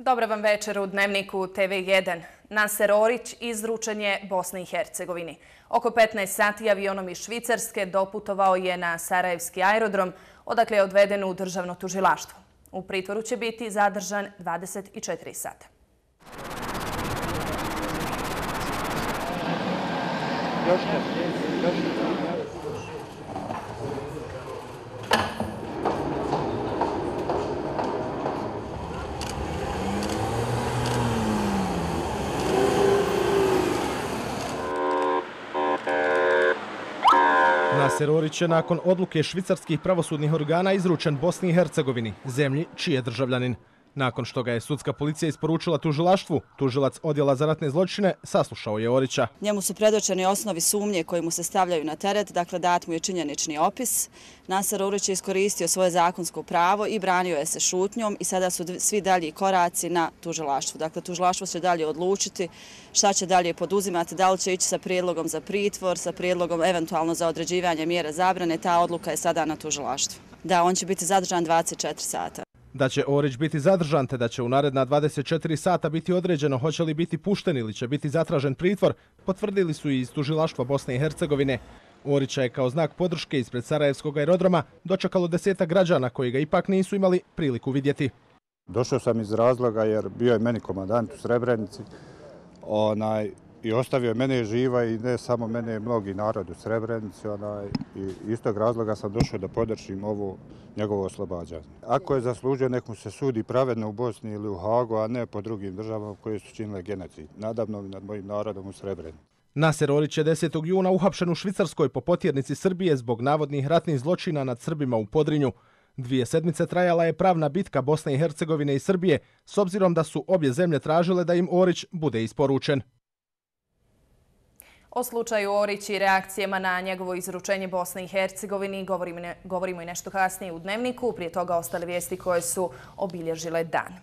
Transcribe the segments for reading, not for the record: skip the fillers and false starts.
Dobar vam večer u Dnevniku TV1. Naser Orić izručen je Bosni i Hercegovini. Oko 15 sati avionom iz Švicarske doputovao je na Sarajevski aerodrom, odakle je odveden u državno tužilaštvo. U pritvoru će biti zadržan 24 sata. Naser Orić je nakon odluke švicarskih pravosudnih organa izručen Bosni i Hercegovini, zemlji čiji je državljanin. Nakon što ga je sudska policija isporučila tužilaštvu, tužilac odjela za ratne zločine saslušao je Orića. Njemu su predočeni osnovi sumnje koji mu se stavljaju na teret, dakle dat mu je činjenični opis. Naser Orić je iskoristio svoje zakonsko pravo i branio je se šutnjom i sada su svi dalji koraci na tužilaštvu. Dakle, tužilaštvo će dalje odlučiti šta će dalje poduzimati, da li će ići sa prijedlogom za pritvor, sa prijedlogom eventualno za određivanje mjere zabrane. Ta odluka je sada na tužilaštvu. Da, on će biti zadržan 24 sata. Da će Orić biti zadržan te da će u naredna 24 sata biti određeno hoće li biti pušten ili će biti zatražen pritvor, potvrdili su i iz tužilaštva Bosne i Hercegovine. Orića je kao znak podrške ispred Sarajevskog aerodroma dočekalo 10 građana koji ga ipak nisu imali priliku vidjeti. Došao sam iz razloga jer bio je meni komandant u Srebrenici i ostavio mene živa i ne samo mene, mnogi narod u Srebrenici. I iz tog razloga sam došao da podržim ovo njegovo oslobađanje. Ako je zaslužio, nek mu se sudi pravedno u Bosni ili u Hagu, a ne po drugim državama koje su činile genocid nadamnom i nad mojim narodom u Srebrenici. Naser Orić je 10. juna uhapšen u Švicarskoj po potjernici Srbije zbog navodnih ratnih zločina nad Srbima u Podrinju. 2 sedmice trajala je pravna bitka Bosne i Hercegovine i Srbije, s obzirom da su obje zemlje tražile da im Orić bude isporučen. O slučaju Orić i reakcijama na njegovo izručenje Bosne i Hercegovini govorimo i nešto kasnije u Dnevniku. Prije toga ostale vijesti koje su obilježile dan.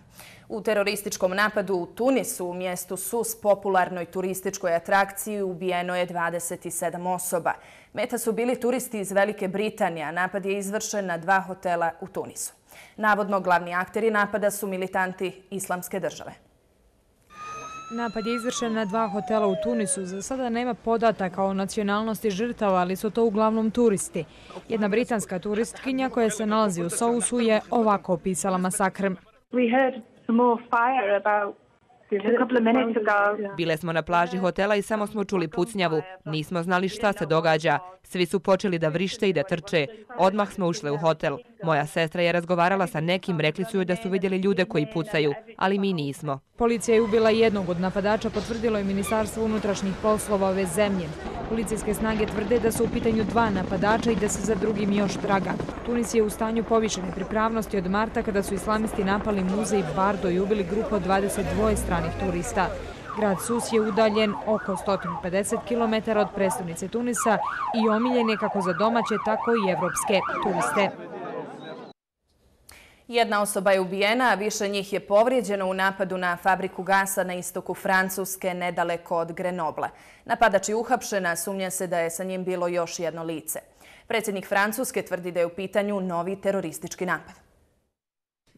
U terorističkom napadu u Tunisu, u mjestu Sus, popularnoj turističkoj atrakciji, ubijeno je 27 osoba. Meta su bili turisti iz Velike Britanije, a napad je izvršen na 2 hotela u Tunisu. Navodno, glavni akteri napada su militanti Islamske države. Napad je izvršen na 2 hotela u Tunisu. Za sada nema podataka o nacionalnosti žrtava, ali su to uglavnom turisti. Jedna britanska turistkinja koja se nalazi u Sousu je ovako opisala masakr. Bile smo na plaži hotela i samo smo čuli pucnjavu. Nismo znali šta se događa. Svi su počeli da vrište i da trče. Odmah smo ušli u hotel. Moja sestra je razgovarala sa nekim, rekli su joj da su vidjeli ljude koji pucaju, ali mi nismo. Policija je ubila jednog od napadača, potvrdilo je Ministarstvo unutrašnjih poslova ove zemlje. Policijske snage tvrde da su u pitanju 2 napadača i da se za drugim još traga. Tunis je u stanju povišene pripravnosti od marta kada su islamisti napali muzej Bardo i ubili grupu od 22 stranih turista. Grad Sus je udaljen oko 150 km od prestonice Tunisa i omiljen je kako za domaće, tako i evropske turiste. Jedna osoba je ubijena, a više njih je povrijeđeno u napadu na fabriku gasa na istoku Francuske, nedaleko od Grenobla. Napadač je uhapšen, a sumnja se da je sa njim bilo još jedno lice. Predsjednik Francuske tvrdi da je u pitanju novi teroristički napad.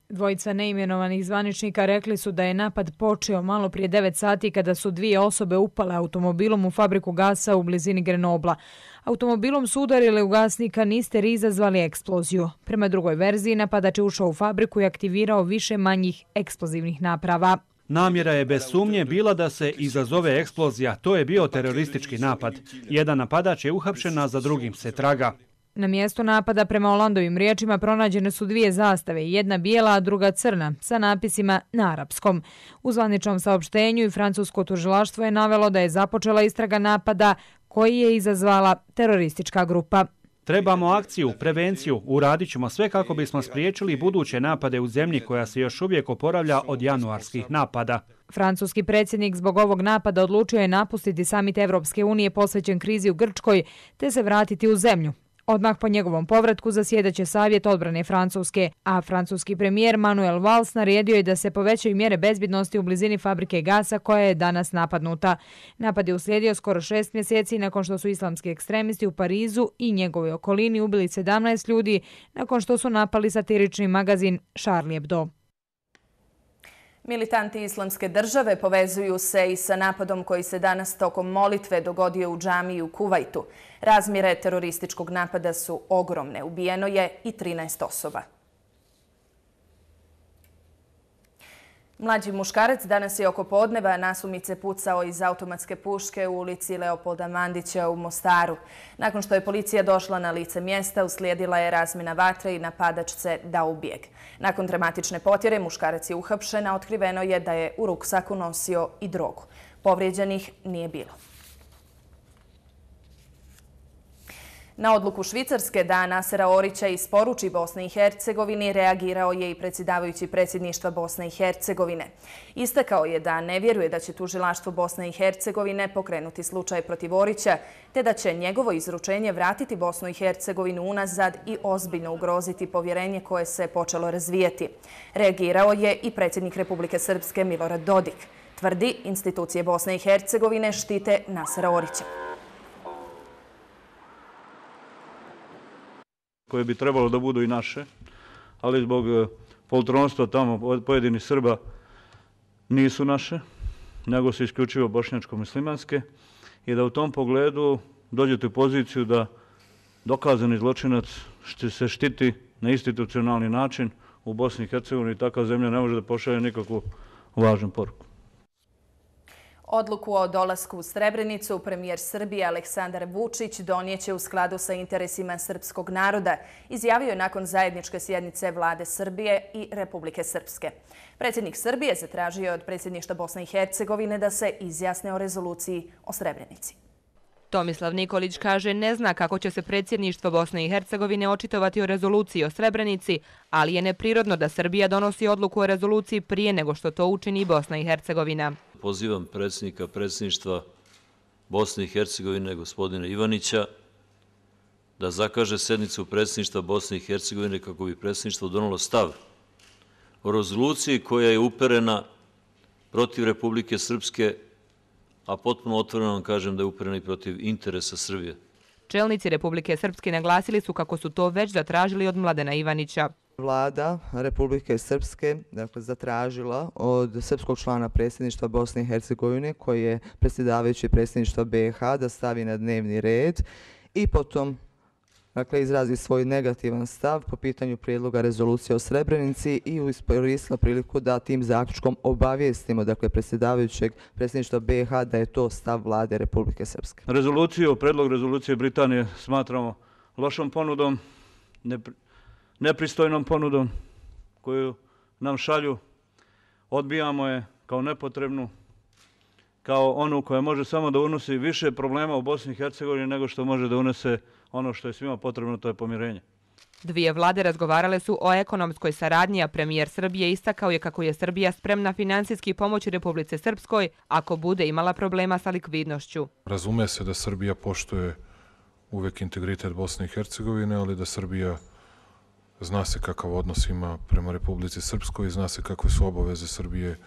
Dvojica neimenovanih zvaničnika rekli su da je napad počeo malo prije 9 sati kada su 2 osobe upale automobilom u fabriku gasa u blizini Grenobla. Automobilom su udarile u gasnika, nister i izazvali eksploziju. Prema drugoj verziji, napadač je ušao u fabriku i aktivirao više manjih eksplozivnih naprava. Namjera je bez sumnje bila da se izazove eksplozija. To je bio teroristički napad. Jedan napadač je uhapšen, a za drugim se traga. Na mjestu napada, prema Olandovim riječima, pronađene su 2 zastave, jedna bijela, a druga crna, sa napisima na arapskom. U zvaničnom saopštenju i francusko tužilaštvo je navelo da je započela istraga napada koji je izazvala teroristička grupa. Trebamo akciju, prevenciju, uradit ćemo sve kako bismo spriječili buduće napade u zemlji koja se još uvijek oporavlja od januarskih napada. Francuski predsjednik zbog ovog napada odlučio je napustiti samit Evropske unije posvećen krizi u Grčkoj te se vratiti u zemlju. Odmah po njegovom povratku zasjedaće savjet odbrane Francuske, a francuski premijer Manuel Valls naredio je da se povećaju mjere bezbjednosti u blizini fabrike gasa koja je danas napadnuta. Napad je uslijedio skoro 6 mjeseci nakon što su islamski ekstremisti u Parizu i njegovoj okolini ubili 17 ljudi nakon što su napali satirični magazin Charlie Hebdo. Militanti Islamske države povezuju se i sa napadom koji se danas tokom molitve dogodio u džamiji u Kuvajtu. Razmjere terorističkog napada su ogromne. Ubijeno je i 13 osoba. Mlađi muškarac danas je oko podneva nasumice pucao iz automatske puške u ulici Leopolda Mandića u Mostaru. Nakon što je policija došla na lice mjesta, uslijedila je razmjena vatre i napadač se dao u bijeg. Nakon dramatične potjere muškarac je uhapšen, a otkriveno je da je u ruksaku nosio i drogu. Povrijeđenih nije bilo. Na odluku Švicarske da Nasera Orića isporuči Bosni i Hercegovini reagirao je i predsjedavajući predsjedništva Bosne i Hercegovine. Istakao je da ne vjeruje da će tužilaštvo Bosne i Hercegovine pokrenuti slučaj protiv Orića, te da će njegovo izručenje vratiti Bosnu i Hercegovinu unazad i ozbiljno ugroziti povjerenje koje se počelo razvijeti. Reagirao je i predsjednik Republike Srpske Milorad Dodik. Tvrdi, institucije Bosne i Hercegovine štite Nasera Orića. Koje bi trebalo da budu i naše, ali zbog poltronstva tamo od pojedinih Srba nisu naše, nego su isključivo bošnjačko-muslimanske i da u tom pogledu dođete u poziciju da dokazani zločinac se štiti na institucionalni način u Bosni i Hercegovini i takva zemlja ne može da pošalje nikakvu važnu poruku. Odluku o dolasku u Srebrenicu premijer Srbije Aleksandar Vučić donijeće u skladu sa interesima srpskog naroda, izjavio je nakon zajedničke sjednice Vlade Srbije i Republike Srpske. Predsjednik Srbije zatražio je od predsjedništva Bosne i Hercegovine da se izjasne o rezoluciji o Srebrenici. Tomislav Nikolić kaže ne zna kako će se predsjedništvo Bosne i Hercegovine očitovati o rezoluciji o Srebrenici, ali je neprirodno da Srbija donosi odluku o rezoluciji prije nego što to učini Bosna i Hercegovina. Pozivam predsjednika predsjedništva Bosne i Hercegovine, gospodina Ivanića, da zakaže sednicu predsjedništva Bosne i Hercegovine kako bi predsjedništvo donijelo stav o rezoluciji koja je uperena protiv Republike Srpske, a potpuno otvoreno vam kažem da je uperena i protiv interesa Srbije. Čelnici Republike Srpske naglasili su kako su to već zatražili od Mladena Ivanića. Vlada Republike Srpske zatražila od srpskog člana predsjedništva Bosne i Hercegovine, koji je predsjedavajući predsjedništva BiH, da stavi na dnevni red i potom izrazi svoj negativan stav po pitanju prijedloga rezolucije o Srebrenici i iskoristila priliku da tim zaključkom obavijestimo predsjedavajućeg predsjedništva BiH da je to stav Vlade Republike Srpske. Predlog rezolucije Britanije smatramo lošom ponudom, nepristojnom ponudom koju nam šalju. Odbijamo je kao nepotrebnu, kao onu koja može samo da unosi više problema u Bosni i Hercegovini nego što može da unese ono što je svima potrebno, to je pomirenje. Dvije vlade razgovarale su o ekonomskoj saradnji, a premijer Srbije istakao je kako je Srbija spremna finansijski pomoći Republici Srpskoj ako bude imala problema sa likvidnošću. Razume se da Srbija poštuje uvek integritet Bosne i Hercegovine, ali da Srbija zna se kakav odnos ima prema Republici Srpskoj i zna se kakve su obaveze Srbije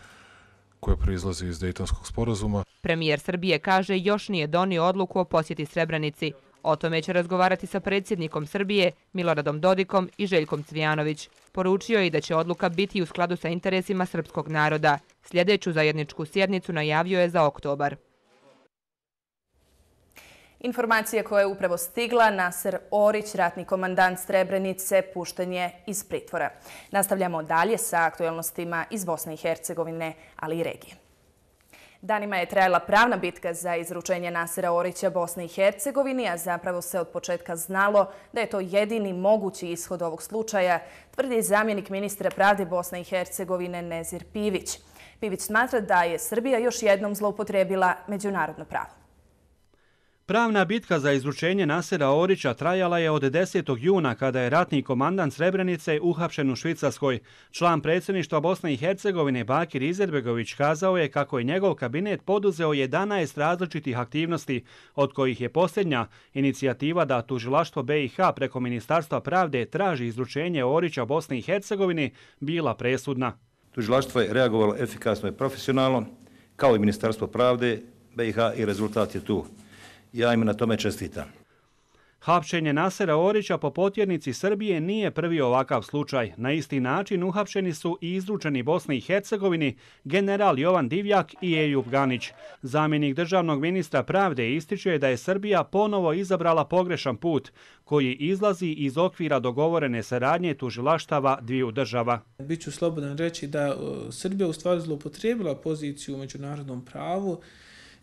koje proizlaze iz Dejtonskog sporazuma. Premijer Srbije kaže još nije donio odluku o posjeti Srebrenici. O tome će razgovarati sa predsjednikom Srbije Miloradom Dodikom i Željkom Cvijanović. Poručio je i da će odluka biti u skladu sa interesima srpskog naroda. Sljedeću zajedničku sjednicu najavio je za oktobar. Informacija koja je upravo stigla, Naser Orić, ratni komandant Srebrenice, pušten je iz pritvora. Nastavljamo dalje sa aktualnostima iz Bosne i Hercegovine, ali i regije. Danima je trajala pravna bitka za izručenje Nasera Orića Bosne i Hercegovini, a zapravo se od početka znalo da je to jedini mogući ishod ovog slučaja, tvrdi zamjenik ministra pravde Bosne i Hercegovine Nezir Pivić. Pivić smatra da je Srbija još jednom zloupotrijebila međunarodno pravo. Pravna bitka za izručenje Nasera Orića trajala je od 10. juna kada je ratni komandant Srebrenice uhapšen u Švicarskoj. Član predsjedništva Bosne i Hercegovine Bakir Izetbegović kazao je kako je njegov kabinet poduzeo 11 različitih aktivnosti, od kojih je posljednja inicijativa da tužilaštvo BiH preko Ministarstva pravde traži izručenje Orića Bosni i Hercegovini bila presudna. Tužilaštvo je reagovalo efikasno i profesionalno, kao i Ministarstvo pravde BiH, i rezultat je tu. Ja im na tome čestitam. Hapšenje Nasera Orića po potjernici Srbije nije prvi ovakav slučaj. Na isti način uhapšeni su i izručeni Bosni i Hercegovini general Jovan Divjak i Ejub Ganić. Zamjenik državnog ministra pravde ističe da je Srbija ponovo izabrala pogrešan put koji izlazi iz okvira dogovorene saradnje tužilaštava dviju država. Biću slobodan reći da Srbija u stvari zloupotrijebila poziciju u međunarodnom pravu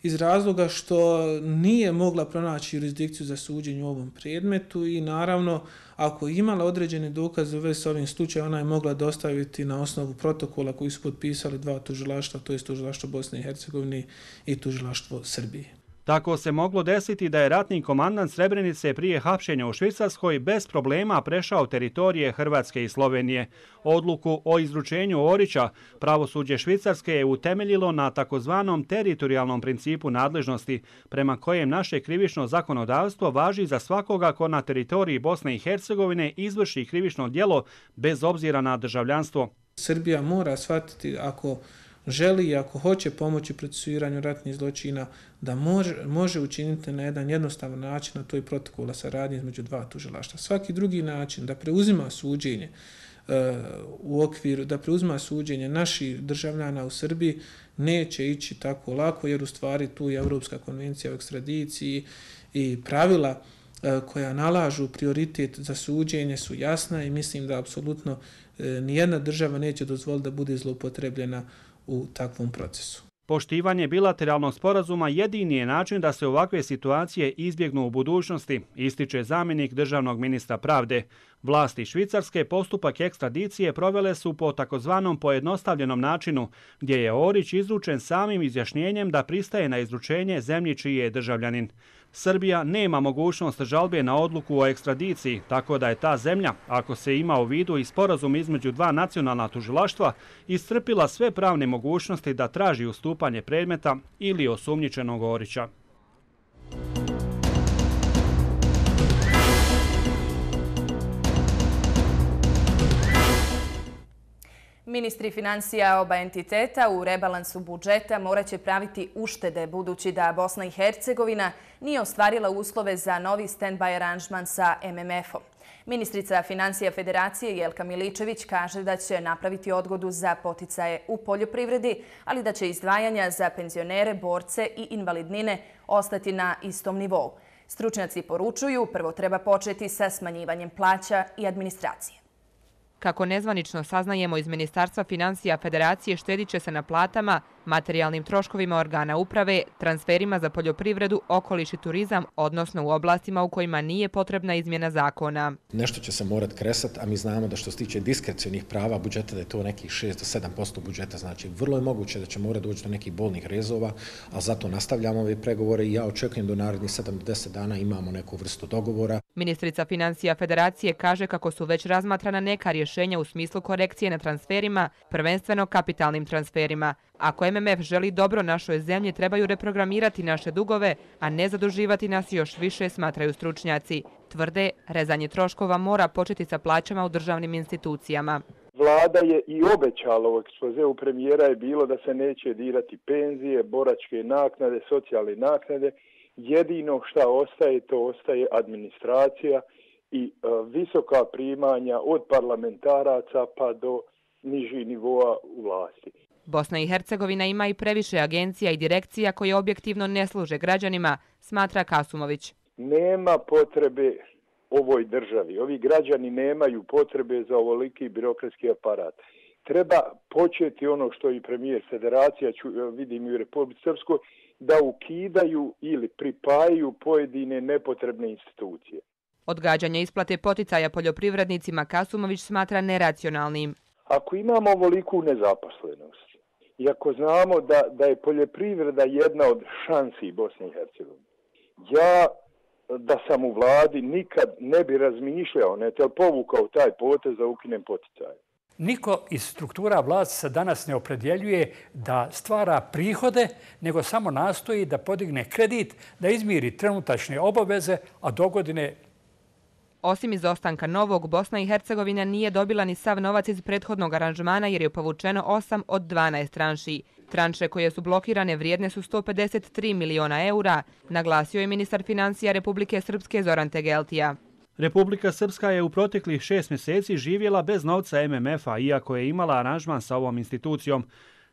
iz razloga što nije mogla pronaći jurisdikciju za suđenje u ovom predmetu i naravno ako je imala određene dokaze u vezi s ovim slučajem, ona je mogla dostaviti na osnovu protokola koji su potpisali dva tužilaštva, to je tužilaštvo Bosne i Hercegovine i tužilaštvo Srbije. Tako se moglo desiti da je ratni komandant Srebrenice prije hapšenja u Švicarskoj bez problema prešao teritorije Hrvatske i Slovenije. Odluku o izručenju Orića pravosuđe Švicarske je utemeljilo na takozvanom teritorijalnom principu nadležnosti, prema kojem naše krivično zakonodavstvo važi za svakoga ko na teritoriji Bosne i Hercegovine izvrši krivično djelo bez obzira na državljanstvo. Srbija mora shvatiti ako želi i ako hoće pomoći procesuiranju ratnih zločina, da može učiniti na jedan jednostavan način, a to je protokola saradnje između dva tužilaštva. Svaki drugi način da preuzima suđenje u okviru, da preuzima suđenje naših državljana u Srbiji neće ići tako lako, jer u stvari tu je Europska konvencija o ekstradiciji i pravila koja nalažu prioritet za suđenje su jasna i mislim da apsolutno nijedna država neće dozvoliti da bude zloupotrebljena u takvom procesu. Poštivanje bilateralnog sporazuma jedini je način da se ovakve situacije izbjegnu u budućnosti, ističe zamjenik državnog ministra pravde. Vlasti Švicarske postupak ekstradicije provele su po takozvanom pojednostavljenom načinu, gdje je Orić izručen samim izjašnjenjem da pristaje na izručenje zemlji čiji je državljanin. Srbija nema mogućnost žalbe na odluku o ekstradiciji, tako da je ta zemlja, ako se ima u vidu i sporazum između dva nacionalna tužilaštva, iscrpila sve pravne mogućnosti da traži ustupanje predmeta ili osumnjičenog Orića. Ministri financija oba entiteta u rebalansu budžeta morat će praviti uštede budući da Bosna i Hercegovina nije ostvarila uslove za novi stand-by aranžman sa MMF-om. Ministrica financija Federacije Jelka Miličević kaže da će napraviti odgodu za poticaje u poljoprivredi, ali da će izdvajanja za penzionere, borce i invalidnine ostati na istom nivou. Stručnjaci poručuju prvo treba početi sa smanjivanjem plaća i administracije. Kako nezvanično saznajemo iz Ministarstva financija Federacije, štedit će se na platama, materijalnim troškovima organa uprave, transferima za poljoprivredu, okoliš i turizam, odnosno u oblastima u kojima nije potrebna izmjena zakona. Nešto će se morat kresati, a mi znamo da što se tiče diskrecionih prava budžeta da je to nekih 6 do 7% budžeta. Znači, vrlo je moguće da će morati doći do nekih bolnih rezova, a zato nastavljamo ove pregovore i ja očekujem da u narednih 7 do 10 dana imamo neku vrstu dogovora. Ministrica financija Federacije kaže kako su već razmatrana neka rješenja u smislu korekcije na transferima, prvenstveno kapitalnim transferima. Ako MMF želi dobro našoj zemlji, trebaju reprogramirati naše dugove, a ne zaduživati nas još više, smatraju stručnjaci. Tvrde, rezanje troškova mora početi sa plaćama u državnim institucijama. Vlada je i obećala u ekspozeu premijera je bilo da se neće dirati penzije, boračke naknade, socijalne naknade. Jedino šta ostaje, to ostaje administracija i visoka primanja od parlamentaraca pa do nižih nivoa u vlasti. Bosna i Hercegovina ima i previše agencija i direkcija koje objektivno ne služe građanima, smatra Kasumović. Nema potrebe ovoj državi. Ovi građani nemaju potrebe za ovoliki birokratski aparat. Treba početi ono što i premijer Federacija, vidim i u Republici Srpskoj, da ukidaju ili pripajaju pojedine nepotrebne institucije. Odgađanje isplate poticaja poljoprivrednicima Kasumović smatra neracionalnim. Ako imamo ovoliku nezaposlenost i ako znamo da je poljoprivreda jedna od šansi Bosne i Hercegovine, ja da sam u vladi nikad ne bi razmišljao, povukao taj potez da ukinem poticaje. Niko iz struktura vlasti se danas ne opredjeljuje da stvara prihode, nego samo nastoji da podigne kredit, da izmiri trenutačne obaveze, a dogodine Osim izostanka novog, Bosna i Hercegovina nije dobila ni sav novac iz prethodnog aranžmana jer je povučeno 8 od 12 tranši. Tranše koje su blokirane vrijedne su 153 miliona eura, naglasio je ministar financija Republike Srpske Zoran Tegeltija. Republika Srpska je u proteklih 6 mjeseci živjela bez novca MMF-a, iako je imala aranžman sa ovom institucijom.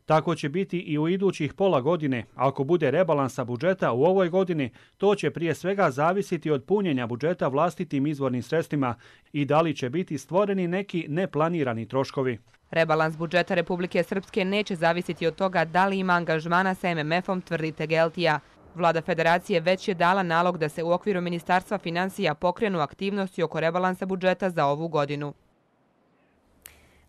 Tako će biti i u idućih pola godine. Ako bude rebalansa budžeta u ovoj godini, to će prije svega zavisiti od punjenja budžeta vlastitim izvornim sredstvima i da li će biti stvoreni neki neplanirani troškovi. Rebalans budžeta Republike Srpske neće zavisiti od toga da li ima angažmana sa MMF-om, tvrdi Tegeltija. Vlada federacije već je dala nalog da se u okviru Ministarstva financija pokrenu aktivnosti oko rebalansa budžeta za ovu godinu.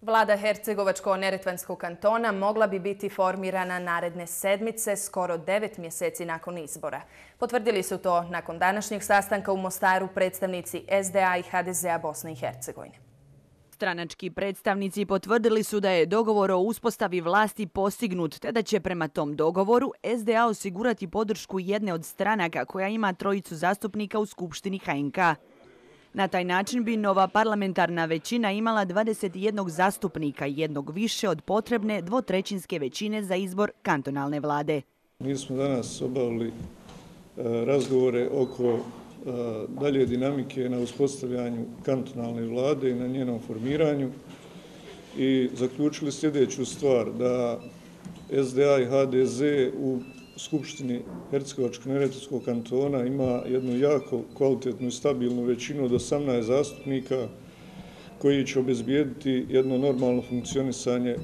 Vlada Hercegovačko-Neretvanskog kantona mogla bi biti formirana naredne sedmice, skoro 9 mjeseci nakon izbora. Potvrdili su to nakon današnjeg sastanka u Mostaru predstavnici SDA i HDZ-a Bosne i Hercegovine. Stranački predstavnici potvrdili su da je dogovor o uspostavi vlasti postignut, te da će prema tom dogovoru SDA osigurati podršku jedne od stranaka koja ima 3 zastupnika u Skupštini HNK. Na taj način bi nova parlamentarna većina imala 21 zastupnika, jednog više od potrebne 2/3 većine za izbor kantonalne vlade. Mi smo danas obavili razgovore oko dalje dinamike na uspostavljanju kantonalne vlade i na njenom formiranju i zaključili sljedeću stvar, da SDA i HDZ u Skupštini Hercegovačko-Neretvanskog kantona ima jednu jako kvalitetnu i stabilnu većinu od 18 zastupnika koji će obezbijediti jedno normalno funkcionisanje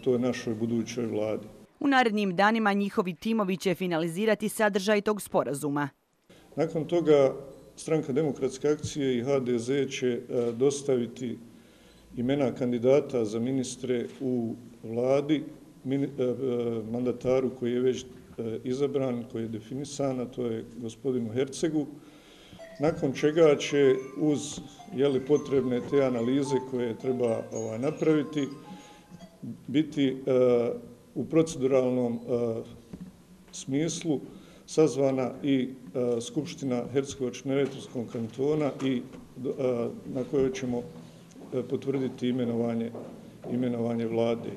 toj našoj budućoj vladi. U narednim danima njihovi timovi će finalizirati sadržaj tog sporazuma. Nakon toga Stranka demokratske akcije i HDZ će dostaviti imena kandidata za ministre u vladi, mandataru koji je već izabran, koji je definisan, a to je gospodinu Hercegu, nakon čega će uz potrebne te analize koje treba napraviti biti u proceduralnom smislu sazvana i Skupština Hercegovačko-Neretvanskog kantona i na kojoj ćemo potvrditi imenovanje vlade.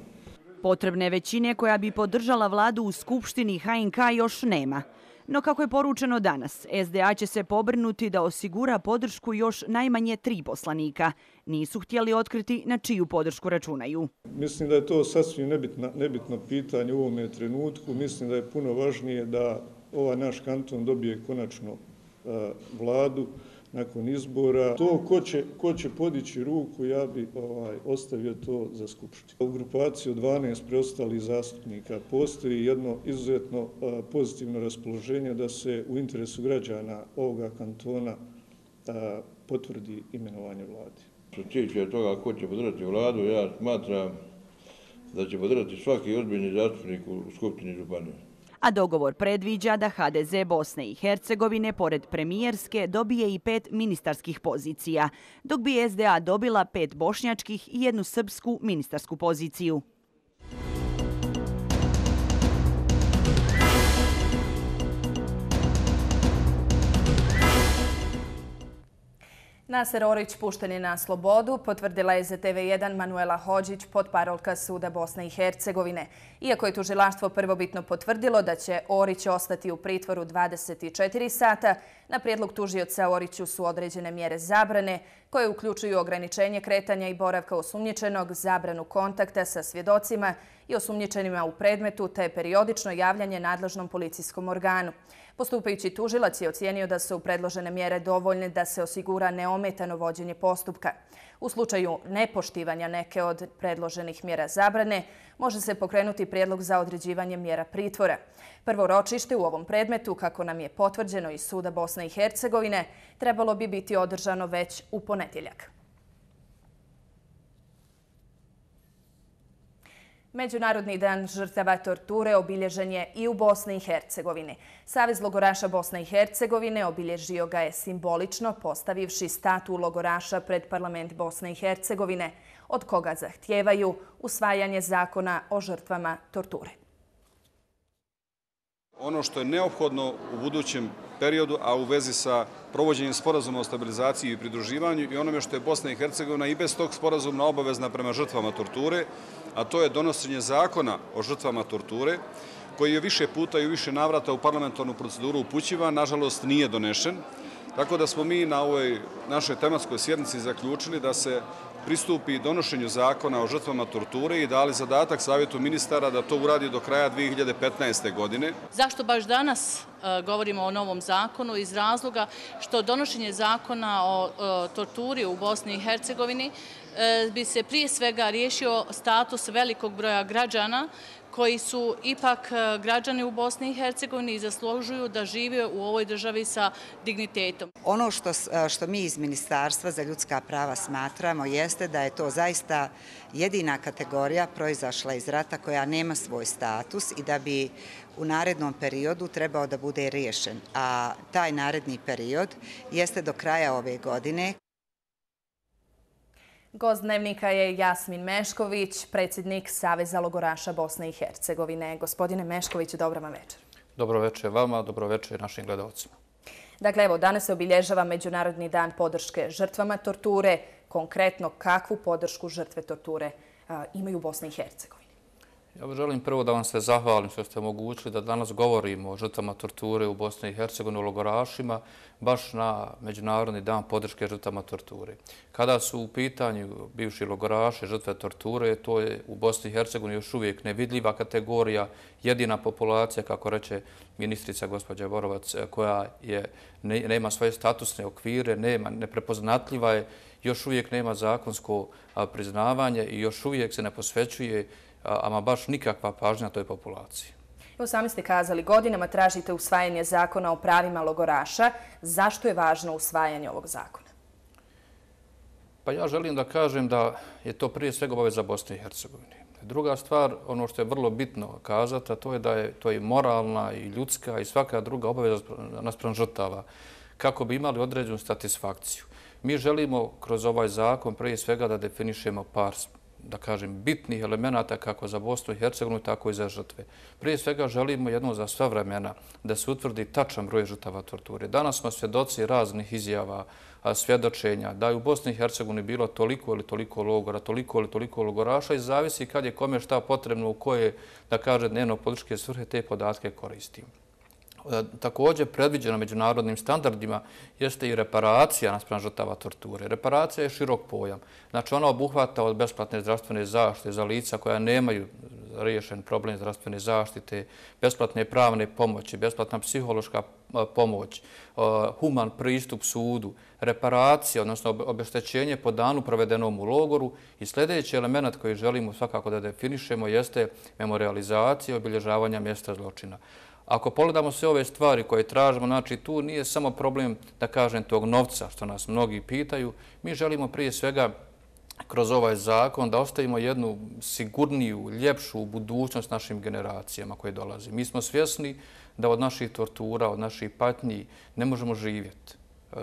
Potrebne većine koja bi podržala vladu u Skupštini HNK još nema. No kako je poručeno danas, SDA će se pobrinuti da osigura podršku još najmanje 3 poslanika. Nisu htjeli otkriti na čiju podršku računaju. Mislim da je to sasvim nebitno pitanje u ovome trenutku. Mislim da je puno važnije da ovaj naš kanton dobije konačno vladu nakon izbora. To ko će podići ruku, ja bi ostavio to za Skupštinu. U grupaciji od 12 preostalih zastupnika postoji jedno izuzetno pozitivno raspoloženje da se u interesu građana ovoga kantona potvrdi imenovanje vlade. Što se tiče toga ko će podržati vladu, ja smatram da će podržati svaki ozbiljni zastupnik u Skupštini županije. A dogovor predviđa da HDZ Bosne i Hercegovine, pored premijerske, dobije i 5 ministarskih pozicija, dok bi SDA dobila 5 bošnjačkih i 1 srpsku ministarsku poziciju. Naser Orić pušten je na slobodu, potvrdila je za TV1 Manuela Hodžić, potparolka Suda Bosne i Hercegovine. Iako je tužilaštvo prvobitno potvrdilo da će Orić ostati u pritvoru 24 sata, na prijedlog tužioca Oriću su određene mjere zabrane, koje uključuju ograničenje kretanja i boravka osumnjičenog, zabranu kontakta sa svjedocima i osumnjičenima u predmetu, te periodično javljanje nadležnom policijskom organu. Postupajući tužilac je ocijenio da su predložene mjere dovoljne da se osigura neometano vođenje postupka. U slučaju nepoštivanja neke od predloženih mjera zabrane, može se pokrenuti prijedlog za određivanje mjera pritvora. Prvo ročište u ovom predmetu, kako nam je potvrđeno iz Suda Bosne i Hercegovine, trebalo bi biti održano već u ponedjeljak. Međunarodni dan žrtava torture obilježen je i u Bosni i Hercegovini. Savez logoraša Bosne i Hercegovine obilježio ga je simbolično, postavivši statu logoraša pred parlament Bosne i Hercegovine, od koga zahtijevaju usvajanje zakona o žrtvama torture. Ono što je neophodno u budućem periodu, a u vezi sa provođenjem sporazuma o stabilizaciji i pridruživanju i onome što je Bosna i Hercegovina i bez tog sporazuma obavezna prema žrtvama torture, a to je donošenje zakona o žrtvama torture, koji je više puta i u više navrata u parlamentarnu proceduru upućivan, nažalost nije donešen. Tako da smo mi na ovoj našoj tematskoj sjednici zaključili da se pristupi donošenju zakona o žrtvama torture i dali zadatak Savjetu ministara da to uradi do kraja 2015. godine. Zašto baš danas govorimo o novom zakonu? Iz razloga što donošenje zakona o torturi u Bosni i Hercegovini bi se prije svega riješio status velikog broja građana koji su ipak građani u Bosni i Hercegovini i zaslužuju da žive u ovoj državi sa dignitetom. Ono što mi iz Ministarstva za ljudska prava smatramo jeste da je to zaista jedina kategorija proizašla iz rata koja nema svoj status i da bi u narednom periodu trebao da bude riješen. A taj naredni period jeste do kraja ove godine. Gost Dnevnika je Jasmin Mešković, predsjednik Saveza logoraša Bosne i Hercegovine. Gospodine Mešković, dobro vam večer. Dobro večer vama, dobro večer našim gledalcima. Dakle, evo, danas se obilježava Međunarodni dan podrške žrtvama torture. Konkretno, kakvu podršku žrtve torture imaju u Bosni i Hercegovini? Ja želim prvo da vam se zahvalim što ste omogućili da danas govorimo o žrtvama torture u Bosni i Hercegovini, o logorašima, baš na Međunarodni dan podrške žrtvama torture. Kada su u pitanju bivši logoraši, žrtve torture, to je u Bosni i Hercegovini još uvijek nevidljiva kategorija, jedina populacija, kako reče ministrica gospođa Borovac, koja nema svoje statusne okvire, neprepoznatljiva je, još uvijek nema zakonsko priznavanje i još uvijek se ne posvećuje ama baš nikakva pažnja toj populaciji. Evo, sami ste kazali, godinama tražite usvajanje zakona o pravima logoraša. Zašto je važno usvajanje ovog zakona? Pa ja želim da kažem da je to prije svega obaveza Bosne i Hercegovine. Druga stvar, ono što je vrlo bitno kazati, a to je da je to i moralna i ljudska i svaka druga obaveza naspram žrtava, kako bi imali određenu satisfakciju. Mi želimo kroz ovaj zakon prije svega da definišemo par, da kažem, bitnih elemenata kako za Bosnu i Hercegovinu, tako i za žrtve. Prije svega želimo jednom za sva vremena da se utvrdi tačan broj žrtava torture. Danas smo svjedoci raznih izjava, svjedočenja da je u Bosni i Hercegovini bilo toliko ili toliko logora, toliko ili toliko logoraša i zavisi kad je kome šta potrebno u koje, da kaže, dnevno političke svrhe te podatke koristimo. Također predviđeno međunarodnim standardima jeste i reparacija naspram žrtava torture. Reparacija je širok pojam. Znači ona obuhvata od besplatne zdravstvene zaštite za lica koja nemaju riješen problem zdravstvene zaštite, besplatne pravne pomoći, besplatna psihološka pomoć, human pristup sudu, reparacija, odnosno obeštećenje po danu provedenom u logoru i sljedeći element koji želimo svakako da definišemo jeste memorializacija obilježavanja mjesta zločina. Ako pogledamo sve ove stvari koje tražimo, znači tu nije samo problem, da kažem, tog novca, što nas mnogi pitaju. Mi želimo prije svega kroz ovaj zakon da ostavimo jednu sigurniju, ljepšu budućnost našim generacijama koje dolazi. Mi smo svjesni da od naših tortura, od naših patnji ne možemo živjeti.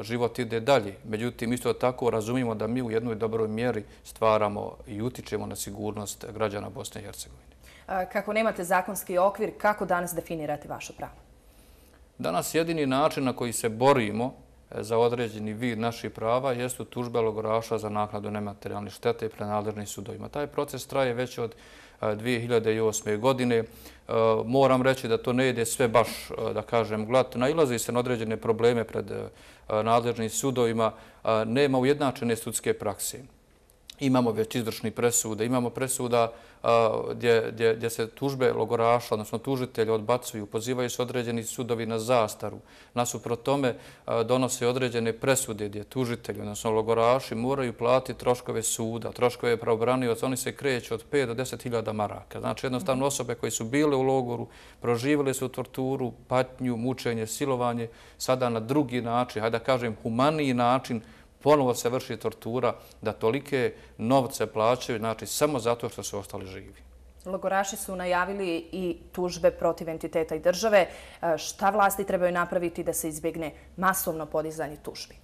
Život ide dalje. Međutim, isto tako razumijemo da mi u jednoj dobroj mjeri stvaramo i utičemo na sigurnost građana Bosne i Hercegovine. Kako nemate zakonski okvir, kako danas definirate vaše pravo? Danas jedini način na koji se borimo za određeni vid naših prava jesu tužbe logoraša za naknadu nematerijalne štete pred nadležnim sudovima. Taj proces traje već od 2008. godine. Moram reći da to ne ide sve baš, da kažem, glatko. Nailazi se na određene probleme pred nadležnim sudovima. Nema ujednačene sudske prakse. Imamo već izvršni presude, imamo presuda gdje se tužbe logoraša, odnosno tužitelji odbacuju, pozivaju se određeni sudovi na zastaru. Nasuprot tome donose određene presude gdje tužitelji, odnosno logoraši, moraju platiti troškove suda, troškove pravobranioca, oni se kreću od 5 do 10.000 maraka. Znači jednostavno osobe koje su bile u logoru, proživjeli su torturu, patnju, mučenje, silovanje, sada na drugi način, hajde da kažem humaniji način, ponovo se vrši tortura, da tolike novce plaćaju, znači samo zato što su ostali živi. Logoraši su najavili i tužbe protiv entiteta i države. Šta vlasti trebaju napraviti da se izbjegne masovno podizanje tužbi?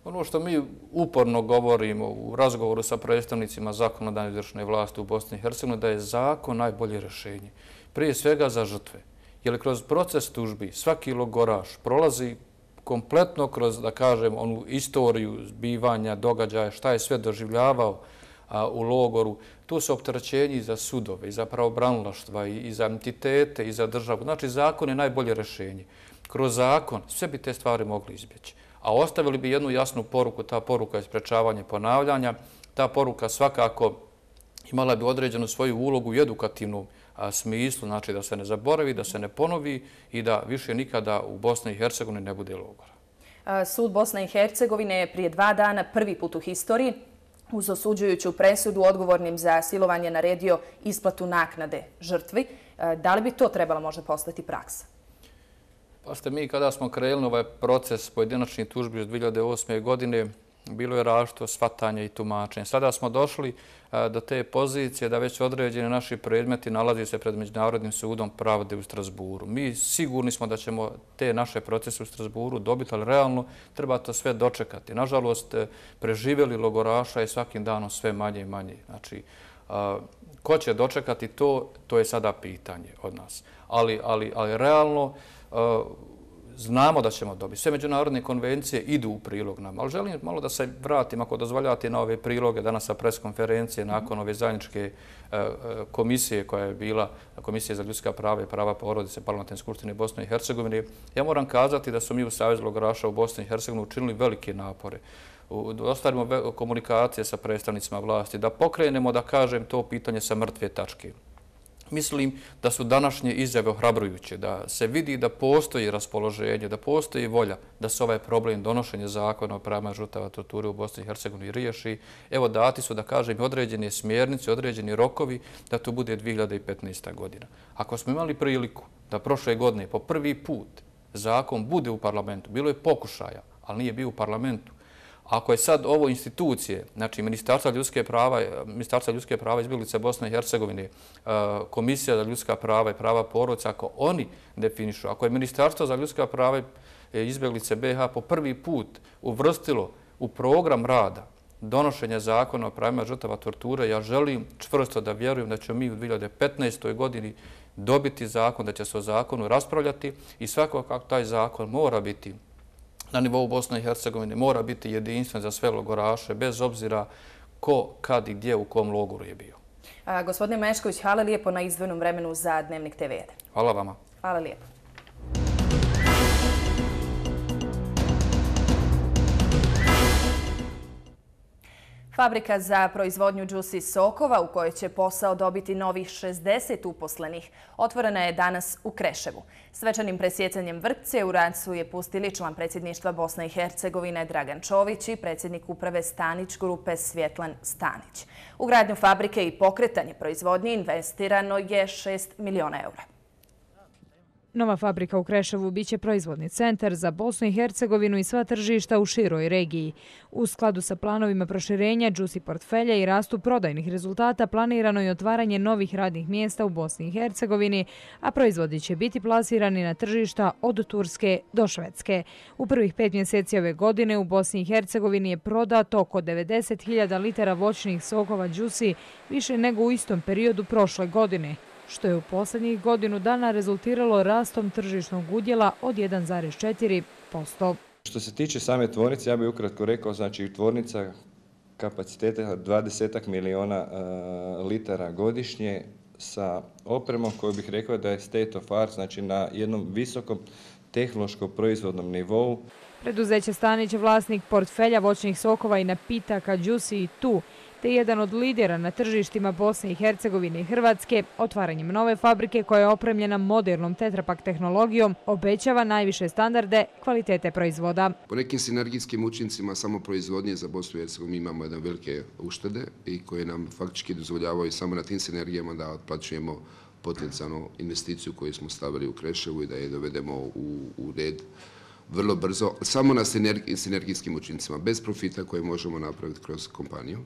Ono što mi uporno govorimo u razgovoru sa predstavnicima zakonodavne izvršne vlasti u Bosni i Hercegovini, da je zakon najbolje rješenje. Prije svega za žrtve. jer kroz proces tužbi svaki logoraš prolazi kompletno kroz, da kažem, onu istoriju zbivanja, događaja, šta je sve doživljavao u logoru. Tu su opterećenji i za sudove, i za pravobranilaštva, i za entitete, i za državu. Znači, zakon je najbolje rješenje. Kroz zakon sve bi te stvari mogli izbjeći. A ostavili bi jednu jasnu poruku, ta poruka je sprečavanje ponavljanja. Ta poruka svakako imala bi određenu svoju ulogu i edukativnu smislu, znači da se ne zaboravi, da se ne ponovi i da više nikada u Bosni i Hercegovini ne bude logora. Sud Bosne i Hercegovine je prije 2 dana prvi put u historiji uz osuđujuću presudu odgovornim za silovanje naredio isplatu naknade žrtvi. Da li bi to trebalo možda postati praksa? Pa ste mi kada smo krenuli ovaj proces pojedinačnih tužbi iz 2008. godine, bilo je različito shvatanje i tumačenje. Sada smo došli do te pozicije da već određeni naši predmeti nalazi se pred Međunarodnim sudom pravde u Strasburu. Mi sigurni smo da ćemo te naše procese u Strasburu dobiti, ali realno treba to sve dočekati. Nažalost, preživjeli logoraša je svakim danom sve manje i manje. Znači, ko će dočekati to, to je sada pitanje od nas. Ali realno, znamo da ćemo dobiti. Sve međunarodne konvencije idu u prilog nam, ali želim malo da se vratim, ako dozvoljate, na ove priloge danas sa preskonferencije nakon ove zajedničke komisije koja je bila Komisija za ljudska prava i prava porodice Parlamentarne skupštine Bosne i Hercegovine. Ja moram kazati da su mi u Savezu logoraša u Bosni i Hercegovini učinili velike napore. Da ostvarimo komunikacije sa predstavnicima vlasti, da pokrenemo, da kažem, to pitanje sa mrtve tačke. Mislim da su današnje izjave ohrabrujuće, da se vidi da postoji raspoloženje, da postoji volja da se ovaj problem donošenja zakona o pravima žrtava torture u Bosni i Hercegovini riješi. Evo, dati su, da kažem, određene smjernice, određeni rokovi da to bude 2015. godina. Ako smo imali priliku da prošle godine po prvi put zakon bude u parlamentu, bilo je pokušaja, ali nije bio u parlamentu. Ako je sad ovo institucije, znači Ministarstva ljudske prava izbjeglica Bosne i Hercegovine, Komisija za ljudska prava i prava porodice, ako oni definišu, ako je Ministarstvo za ljudska prava i izbjeglice BiH po prvi put uvrstilo u program rada donošenja zakona o pravima žrtava torture, ja želim čvrsto da vjerujem da ćemo mi u 2015. godini dobiti zakon, da će se o zakonu raspravljati i svakako taj zakon mora biti na nivou Bosne i Hercegovine, mora biti jedinstven za sve logoraše, bez obzira ko, kad i gdje, u kom logoru je bio. Gospodine Mešković, hvala lijepo na izdvojenom vremenu za Dnevnik TV. Hvala vama. Hvala lijepo. Fabrika za proizvodnju džusi sokova u kojoj će posao dobiti novih 60 uposlenih otvorena je danas u Kreševu. Svečanim presjecanjem vrpce u rad su je pustili član predsjedništva Bosne i Hercegovine Dragan Čović i predsjednik uprave Stanić grupe Svjetlan Stanić. U gradnju fabrike i pokretanje proizvodnje investirano je 6 miliona eura. Nova fabrika u Kreševu biće proizvodni centar za Bosnu i Hercegovinu i sva tržišta u široj regiji. U skladu sa planovima proširenja džusi portfelja i rastu prodajnih rezultata planirano je otvaranje novih radnih mjesta u Bosni i Hercegovini, a proizvodi će biti plasirani na tržišta od Turske do Švedske. U prvih 5 mjeseci ove godine u Bosni i Hercegovini je prodato oko 90.000 litara voćnih sokova džusi, više nego u istom periodu prošle godine, što je u posljednjih godinu dana rezultiralo rastom tržišnog udjela od 1,4%. Što se tiče same tvornice, ja bih ukratko rekao, znači tvornica kapaciteta 20 miliona litara godišnje sa opremom koju bih rekao da je state of art, znači na jednom visokom tehnološkom proizvodnom nivou. Preduzeće Stanić je vlasnik portfelja voćnih sokova i napitaka džusi i tu, te jedan od lidera na tržištima Bosne i Hercegovine i Hrvatske, otvaranjem nove fabrike koja je opremljena modernom tetrapak tehnologijom, obećava najviše standarde kvalitete proizvoda. Po nekim sinergijskim učincima samo proizvodnje za Bosnu i Hercegovinu imamo jedne velike uštede i koje nam faktički dozvoljavaju samo na tim sinergijama da otplaćujemo potencijalnu investiciju koju smo stavili u Kreševu i da je dovedemo u red vrlo brzo, samo na sinergijskim učincima, bez profita koje možemo napraviti kroz kompaniju.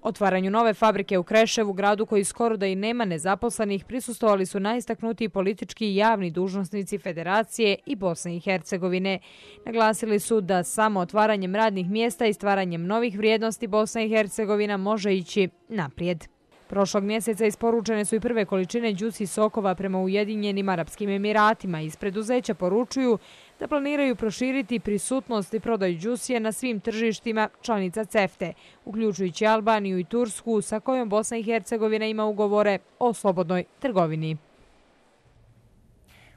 Otvaranju nove fabrike u Kreševu, gradu koji skoro da i nema nezaposlenih, prisustvovali su najistaknutiji politički i javni dužnosnici Federacije i Bosne i Hercegovine. Naglasili su da samo otvaranjem radnih mjesta i stvaranjem novih vrijednosti Bosna i Hercegovina može ići naprijed. Prošlog mjeseca isporučene su i prve količine đusi sokova prema Ujedinjenim Arapskim Emiratima. Iz preduzeća poručuju da planiraju proširiti prisutnost i prodaju đusije na svim tržištima članica CEFTA, uključujući Albaniju i Tursku, sa kojom Bosna i Hercegovina ima ugovore o slobodnoj trgovini.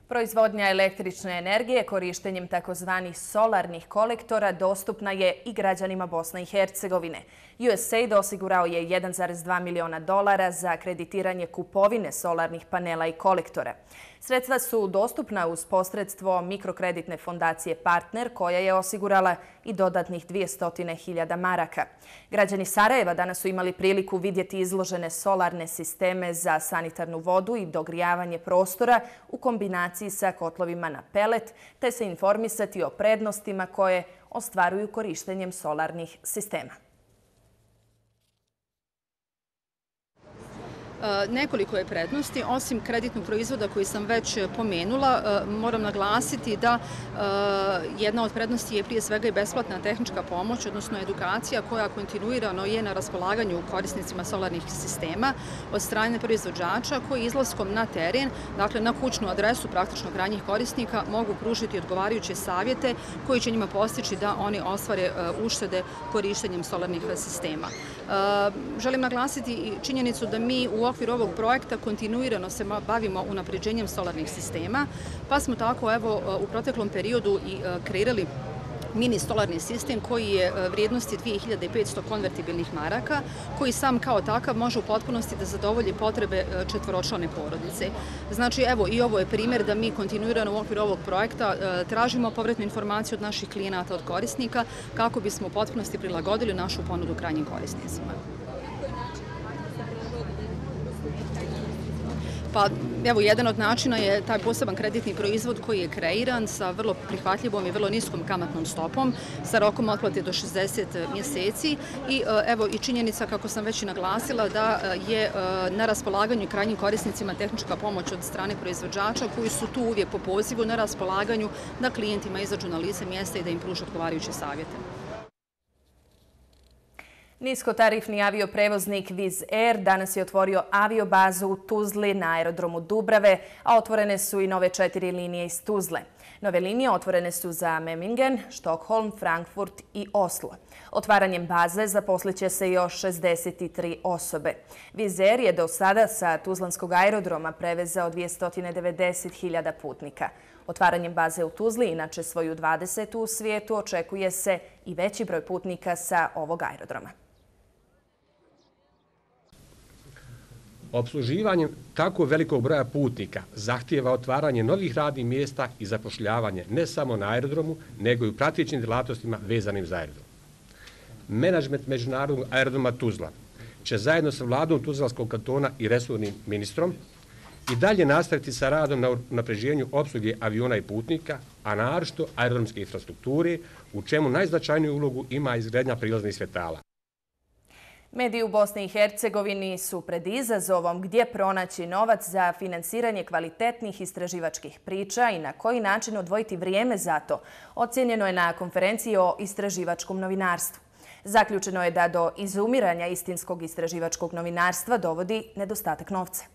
Proizvodnja električne energije korištenjem takozvanih solarnih kolektora dostupna je i građanima Bosne i Hercegovine. USAID osigurao je $1,2 miliona za kreditiranje kupovine solarnih panela i kolektora. Sredstva su dostupna uz posredstvo mikrokreditne fondacije Partner, koja je osigurala i dodatnih 200.000 maraka. Građani Sarajeva danas su imali priliku vidjeti izložene solarne sisteme za sanitarnu vodu i dogrijavanje prostora u kombinaciji sa kotlovima na pelet, te se informisati o prednostima koje ostvaruju korištenjem solarnih sistema. Nekoliko je prednosti. Osim kreditnog proizvoda koji sam već pomenula, moram naglasiti da jedna od prednosti je prije svega i besplatna tehnička pomoć, odnosno edukacija koja kontinuirano je na raspolaganju korisnicima solarnih sistema od strane proizvođača koji izlaskom na teren, dakle na kućnu adresu praktično krajnjih korisnika, mogu pružiti odgovarajuće savjete koji će njima postići da oni ostvare uštede korištenjem solarnih sistema. Želim naglasiti i činjenicu da mi u okviru ovog projekta kontinuirano se bavimo unapređenjem solarnih sistema, pa smo tako u proteklom periodu i kreirali mini solarni sistem koji je vrijednosti 2500 konvertibilnih maraka, koji sam kao takav može u potpunosti da zadovolji potrebe četvoročlane porodice. Znači, evo, i ovo je primjer da mi kontinuirano u okviru ovog projekta tražimo povratnu informaciju od naših klijenata, od korisnika, kako bismo u potpunosti prilagodili našu ponudu krajnjim korisnicima. Pa, evo, jedan od načina je taj poseban kreditni proizvod koji je kreiran sa vrlo prihvatljivom i vrlo niskom kamatnom stopom, sa rokom otplate do 60 mjeseci i evo i činjenica, kako sam već i naglasila, da je na raspolaganju krajnjim korisnicima tehnička pomoć od strane proizvođača koji su tu uvijek po pozivu na raspolaganju da klijentima izađu na lice mjesta i da im pruže odgovarajuće savjete. Niskotarifni avioprevoznik Wizz Air danas je otvorio aviobazu u Tuzli na aerodromu Dubrave, a otvorene su i nove 4 linije iz Tuzle. Nove linije otvorene su za Memmingen, Stockholm, Frankfurt i Oslo. Otvaranjem baze zaposliće se još 63 osobe. Wizz Air je do sada sa Tuzlanskog aerodroma prevezao 290.000 putnika. Otvaranjem baze u Tuzli, inače svoju 20. u svijetu, očekuje se i veći broj putnika sa ovog aerodroma. Obsluživanje tako velikog broja putnika zahtijeva otvaranje novih radnih mjesta i zapošljavanje ne samo na aerodromu, nego i u pratećim djelatnostima vezanim za aerodrom. Menadžment Međunarodnog aerodroma Tuzla će zajedno sa vladom Tuzlanskog kantona i resornim ministrom i dalje nastaviti sa radom na unapređenju opsluge aviona i putnika, a naročito aerodromske infrastrukture, u čemu najznačajniju ulogu ima izgradnja prilaznih svjetala. Mediji u Bosni i Hercegovini su pred izazovom gdje pronaći novac za finansiranje kvalitetnih istraživačkih priča i na koji način odvojiti vrijeme za to, ocjenjeno je na konferenciji o istraživačkom novinarstvu. Zaključeno je da do izumiranja istinskog istraživačkog novinarstva dovodi nedostatak novca.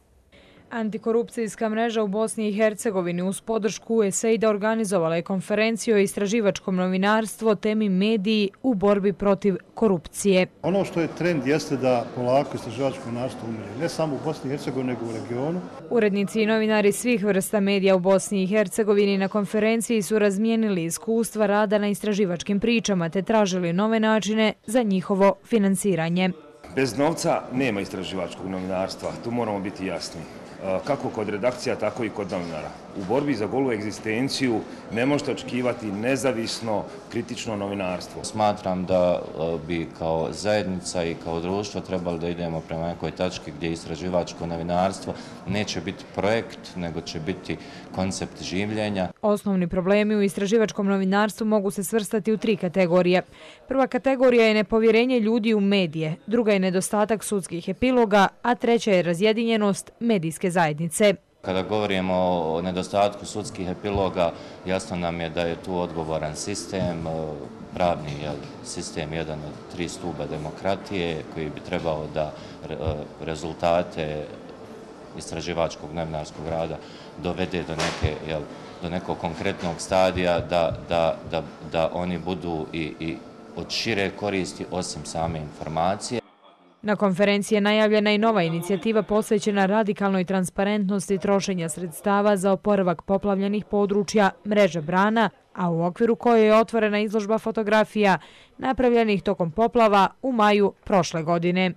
Antikorupcijska mreža u Bosni i Hercegovini uz podršku USAID-a organizovala je konferenciju o istraživačkom novinarstvu o temi mediji u borbi protiv korupcije. Ono što je trend jeste da polako istraživačko novinarstvo umire, ne samo u Bosni i Hercegovini, nego u regionu. Urednici i novinari svih vrsta medija u Bosni i Hercegovini na konferenciji su razmijenili iskustva rada na istraživačkim pričama te tražili nove načine za njihovo finansiranje. Bez novca nema istraživačkog novinarstva, tu moramo biti jasni. Kako kod redakcija, tako i kod novinara. U borbi za golu egzistenciju ne možete očekivati nezavisno, kritično novinarstvo. Smatram da bi kao zajednica i kao društvo trebali da idemo prema nekoj tački gdje istraživačko novinarstvo neće biti projekt, nego će biti koncept življenja. Osnovni problemi u istraživačkom novinarstvu mogu se svrstati u 3 kategorije. Prva kategorija je nepovjerenje ljudi u medije, druga je nedostatak sudskih epiloga, a treća je razjedinjenost medijske zajednice. Kada govorimo o nedostatku sudskih epiloga, jasno nam je da je tu odgovoran sistem, pravni sistem jedan od 3 stuba demokratije koji bi trebao da rezultate istraživačkog novinarskog rada dovede do nekog konkretnog stadija, da oni budu i od šire koristi osim same informacije. Na konferenciji je najavljena i nova inicijativa posvećena radikalnoj transparentnosti trošenja sredstava za oporavak poplavljenih područja mreže brana, a u okviru koje je otvorena izložba fotografija napravljenih tokom poplava u maju prošle godine.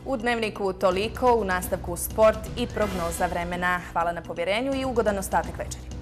U Dnevniku toliko, u nastavku sport i prognoza vremena. Hvala na povjerenju i ugodan ostatak večeri.